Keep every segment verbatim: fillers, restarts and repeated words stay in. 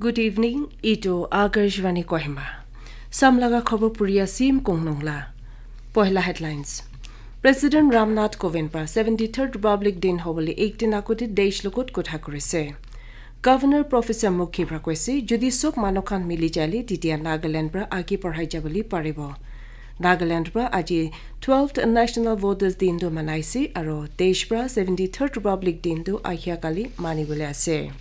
Good evening, itu Akashvani Kohima. Samlaga khobor puri asim kongnungla. Pohila headlines. President Ramnath Kovind pra seventy-third Republic Din hobole ek din agote desh logot kotha kurise. Governor Professor Mukhi pra koise, jodi sob manu khan mili jale, titia Nagaland pra age parhai jabole paribo. Nagaland pra aji twelfth National Voters Din tu manaise, aro desh pra seventy-third Republic Din tu ahia kali manibole ase.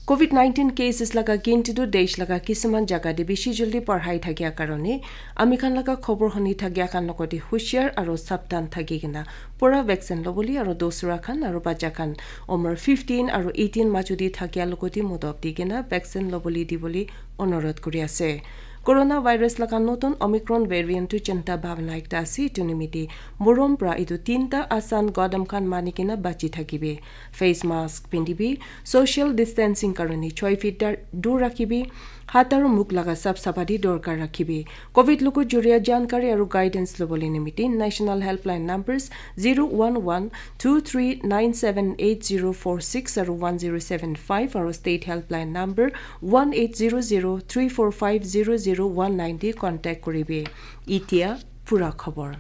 Covid nineteen cases laga ginti tu desh laga kisiman jaga te bishi jaldi parhai thakia karone, ami khan laga khobor huni thakia khan logote hushiar aro sabdhan thaki kena pura vaccine lobole aro dosra khan aro bacha khan umar fifteen aro eighteen majo te thakia logote modop di kena vaccine lobole dibole onurodh kuri ase. Coronavirus laga notun Omicron variant tu chinta bhabna ekta ase, etu nimite morom pra etu tinta asan gadam khan mani kena bachi thakibi. Face mask pindibi, social distancing karone choi feet dar dur rakhibi, hat aru mukh laga sap sapati dorkar rakhibi. Covid logo juria jankari aru guidance lobole nimite National Helpline numbers zero one one two three nine seven eight zero four six aru one zero seven five aru State Helpline number one eight zero zero three four five zero zero one nine te contact kuribi. Itia pura khobor.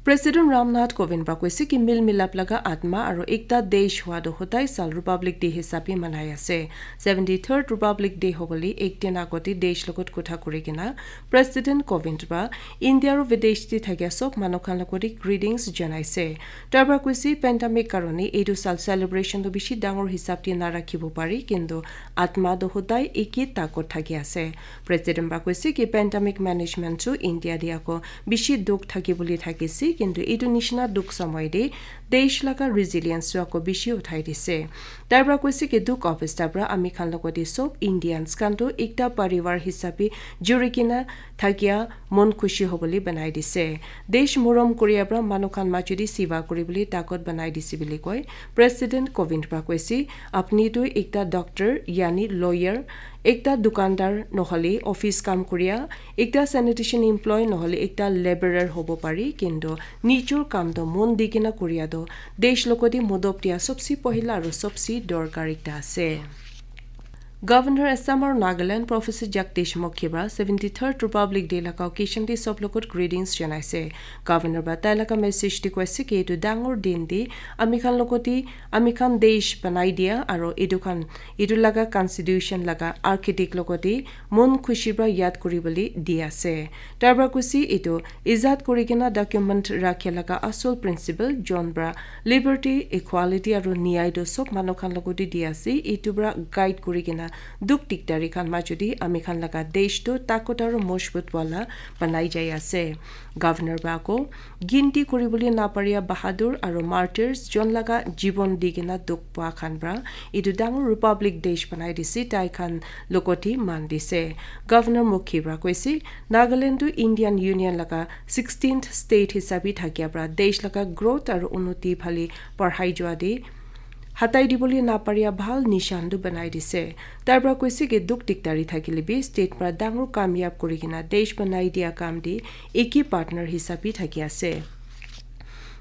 President Ramnath Kovind pra koise ki mil milap laga atma aru ekta desh hua tu hodai sal Republic Day hisabe manai ase. Seventy-third Republic Day hobole ek din agote desh logot kotha kuri kena President Kovind pra India aru videsh te thakia sob manu khan logote greetings janaise. Tar pra koise pandemic karone etu sal celebration tu bishi dangor hisab te narakhibo pari, kintu atma tu hodai eke takot thaki ase. President pra koise ki pandemic management chu India te ako bishi dukh thaki bole thakise, kintu etu nishina dukh samay te desh laga resilience chu ako bishi uthai dise. Tar pra koise ki dukh obostha pra ami khan logote sob Indians khan tu ekta parivar hisabe juri kena thakia mon khushi hobole banai dise. Desh morom koria pra manu khan majo te siva kuribole takot banai dise bole koi. President Kovind pra koise, apni tu ekta doctor, yani lawyer, ekta dukandar nohole office kam koria, ekta sanitation employee nohole ekta laborer hobo pari, kintu nijor kam tu mon di kena koria tu desh logote modop dia sobse pohila aru sobse dorkar ekta ase. Governor Assam aru Nagaland Professor Jagdish Mukhi pra seventy-third Republic Day laga occasion te sob logot greetings janaise. Governor pra tai laga message te koise ki etu dangor din te ami khan logote ami khan desh banai dia aru etu khan etu laga constitution laga architect logote mon khushi pra yad kuribole di ase. Tar pra koise etu ijat kuri kena document rakhe laga asol principle jon pra liberty, equality aru niyai tu sob manu khan logote di ase. Etu pra guide kuri kena dukh dikdari khan majo te ami khan laga desh tu takot aru mojbut wala banai jai ase. Governor pra ako ginti kuribole naparia bahadur aru martyrs jon laga jibon di kena dukh pa khan pra etu dangor Republic Day banai dise, tai khan logote man dise. Governor Mukhi pra koise, Nagaland tu Indian Union laga sixteenth state hisabe thakia pra desh laga growth aru unnoti phale parhai jua te hatai dibole naparia bhal nishan tu banai dise. Tar pra koise ki dukh dikdari thakile bi state pra dangor kamyab kuri kena desh banai dia kam te eke partner hisabe thaki ase.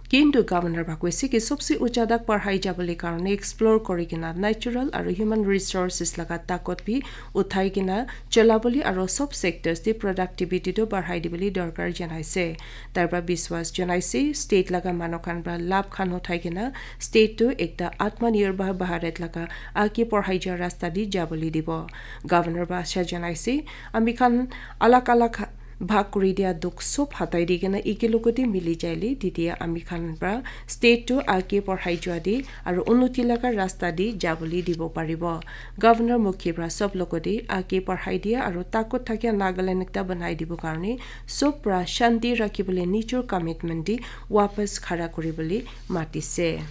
Kintu governor pra koise ki sobse ucha tak parhai jabole karone explore kuri kena natural aru human resources laga takot bi uthai kena cholabole aru sob sectors te productivity tu barhai dibole dorkar janaise. Tar pra biswas janaise state laga manu khan pra labh khan uthai kena state tu ekta Atmanirbhar Bharat laga age parhai ja rasta te jabole dibo. Governor pra asha janaise ami khan alag alag bhag kuri dia dukh sob hatai di kena eke logote mili jaile, titia ami khan pra state tu age parhai jua te aru unnoti laga rasta te jabole dibo paribo. Governor Mukhi pra sob logote age parhai dia aru takot thakia Nagaland ekta banai dibo karone sob pra shanti rakhibole nijor commitment te wapas khara kuribole matise.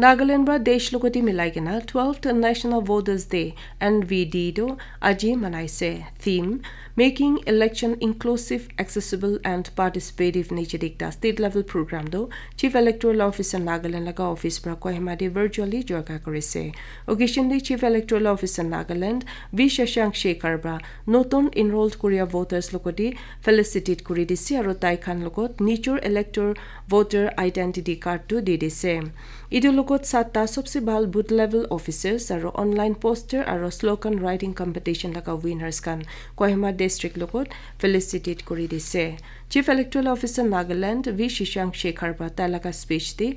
Nagaland pra desh logote milai kena twelfth National Voters Day, N V D, tu aji manaise. Theme, Making Election Inclusive, Accessible and Participative niche te ekta state level program tu Chief Electoral Officer Nagaland laga office pra Kohima te virtually jorka kurise. Occasion te Chief Electoral Officer Nagaland V Shashank Shekhar pra notun enrolled kuria voters logote felicitate kuri dise aru tai khan logot nijor elector voter identity card tu di dise. Etu logot satta sobse bhal booth level officers aro online poster aro slogan writing competition laga winners khan Kohima district logot felicitate kuri dise. Chief Electoral Officer Nagaland V Shashank Shekhar para tai laga speech te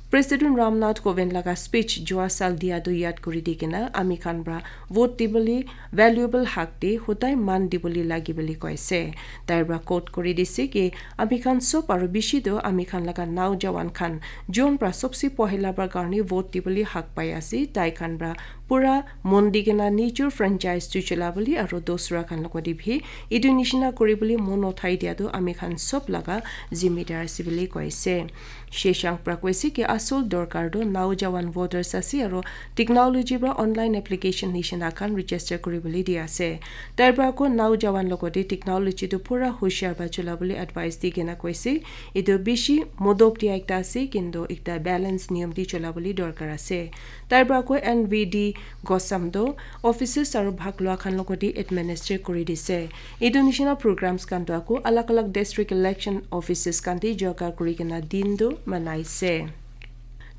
President Ramnath Kovind laga speech jua sal dia tu yad kuri di kena ami khan para vote dibole valuable hak te hodai man dibole lagi bole koise. Tai para quote kuri dise ki ami khan sob aro bishi tu ami khan laga naujawan khan jon para sobse pohila para karne vote dibole hak pai ase. Tai khan para pura mon di kena nijor franchise tu chola bole aro dosra khan logot te bhi etu nishina kuri bole mon uthai dia tu ami khan sob laga zimedar ase bole koise. Shashank para koise ki asol dorkar tu naujawan voters ase aro technology para online application nishina khan register kuri bole di ase. Tai para ko naujawan logot te technology tu pura hushiar para chola bole advice di kena koise. Etu bishi modop dia ekta ase kintu ekta balance niyam te chola bole dorkar ase. Tai para ko N V D Gosam tu offices aro bhag lua khan logot te administer kuri dise. Etu nishina programs khan tu ako alag alag district election offices khan te joga kuri kena din tu manaise.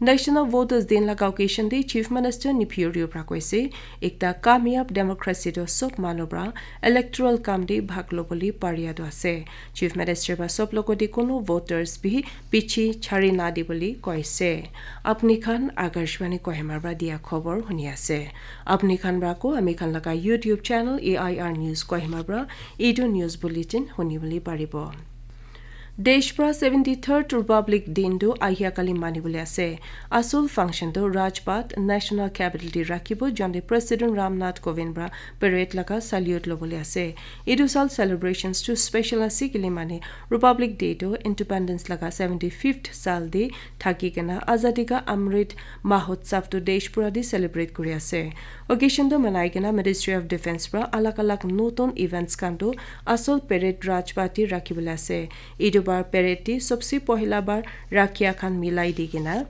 National Voters Din laga occasion te Chief Minister Neiphiu Rio para koise, ekta kamyab democracy tu sob manu para electoral kam te bhag lobole paria tu ase. Chief Minister para sob logot te kono voters bhi piche chari na dibole koise. Apni khan Akashvani Kohima para dia khobor huni ase. Apni khan para ko ami khan laga YouTube channel A I R News Kohima para etu news bulletin huni bole paribo. Desh pra seventy third Republic Din tu ahia kali mani bole ase. Asol function tu Rajpath National Capital te rakhibo, jonte President Ramnath Kovind pra parade laga salute lobole ase. Etu sal celebrations tu special ase kile mane Republic Day tu Independence laga seventy fifth sal te thaki kena Azadi Ka Amrit Mahotsav tu desh pura te celebrate kuri ase. Occasion tu manai kena Ministry of Defence pra alag alag notun events khan tu asol parade Rajpath te rakhi bole ase. Etu bar parade te sobse pohila bar rakhia khan milai di kena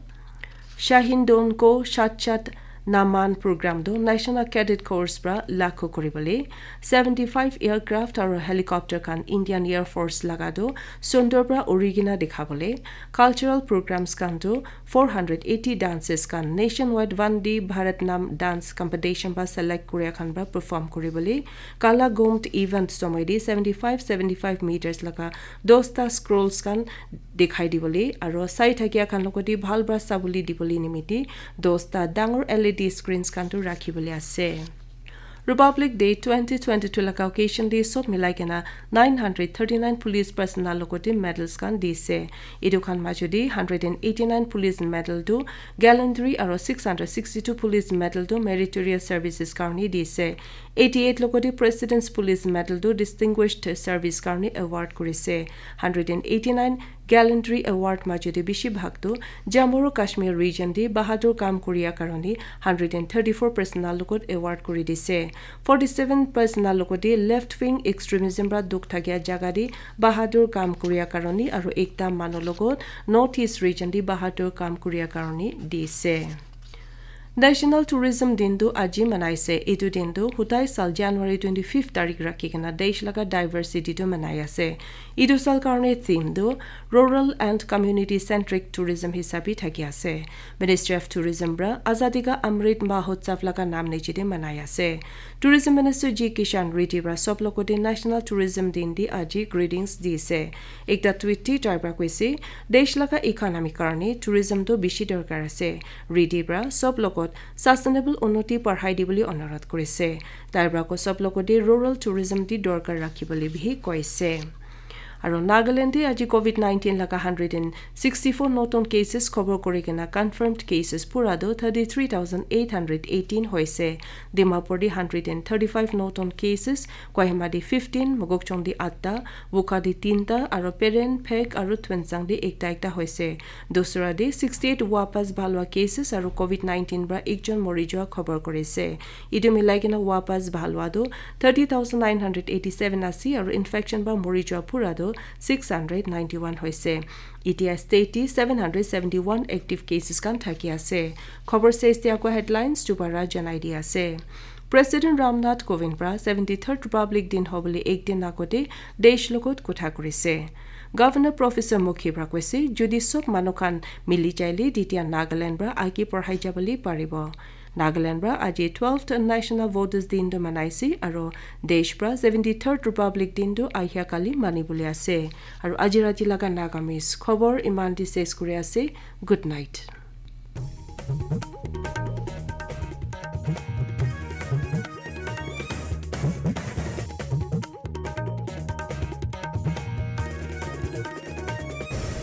Shahin Don Ko Shat Shat Naman program tu National Cadet Corps pra lakho kuri bole, seventy five aircraft aro helicopter khan Indian Air Force laga tu sundur pra uri kena dikha bole, cultural programs khan tu four hundred eighty dances khan nationwide Vande Bharat Nam dance competition pra select kuria khan pra perform kuri bole, Kala Gomd event somoi te seventy five seventy five meters laga dosta scrolls khan dikhai dibole aro sai thakia khan logote bhal pra sabole dibole nimite dosta dangor L E D screens khan tu rakhi bole ase. Republic Day twenty twenty-two laga occasion te sob milai kena nine hundred thirty-nine police personnel logote medals khan dise. Etu khan majo te hundred and eighty-nine police medal tu gallantry aro six hundred sixty-two police medal tu meritorious services karone dise. Eighty-eight logote President's Police Medal tu distinguished service karone award kurise. Hundred and eighty-nine gallantry award majo te bishi bhag tu Jammu aro Kashmir region te bahadur kam kuria karone hundred and thirty-four personnel logot award kuri dise. Forty-seven personnel logote left wing extremism pra dukh thakia jaga te bahadur kam kuria karone aro ekta manu logot North East region te bahadur kam kuria karone dise. National Tourism Din tu aji manaise. Etu din tu hudai sal January twenty-fifth tarik rakhi kena desh laga diversity tu manai ase. Etu sal karone theme tu Rural and Community Centric Tourism hisabe thaki ase. Ministry of Tourism pra Azadi Ka Amrit Mahotsav laga nam niche te manai ase. Tourism Minister G Kishan Reddy pra sob logote National Tourism Din te aji greetings dise. Ekta tweet te tai pra koise, desh laga economy karone tourism tu bishi dorkar ase. Reddy pra sob logot sustainable unnoti parhai dibole onurodh kurise. Tai pra ko sob logote rural tourism te dorkar rakhi bole bihi koise. Aro Nagaland te aji covid nineteen laga hundred and sixty-four notun cases khobor kuri kena confirmed cases pura tu thirty-three thousand eight hundred eighteen hoise. Dimapur te hundred and thirty-five notun cases, Kohima te fifteen, Mokokchung te atta, Wokha te tinta, aro Peren, Phek aro Tuensang te ekta ekta hoise. Dusra te sixty-eight wapas bhal hua cases aro covid nineteen pra ekjon mori jua khobor kurise. Etu milai kena wapas bhal hua tu thirty thousand nine hundred eighty-seven ase aro infection pra mori jua pura tu six hundred ninety-one hoise. Etia state te seven hundred seventy-one active cases khan thaki ase. Khobor ses te ako headlines dubara janai di ase. President Ramnath Kovind pra seventy-third Republic Din hobole ek din agote desh logot kotha kurise. Governor Professor Mukhi pra koise, jodi sob manu khan mili jaile, titia Nagaland pra age porhai jabole paribo. Nagaland pra aji twelfth National Voters Din tu manaise, aro desh pra seventy-third Republic Din tu ahia kali manibole ase. Aro aji rati laga Nagamese khobor iman te ses kuri ase. Good night.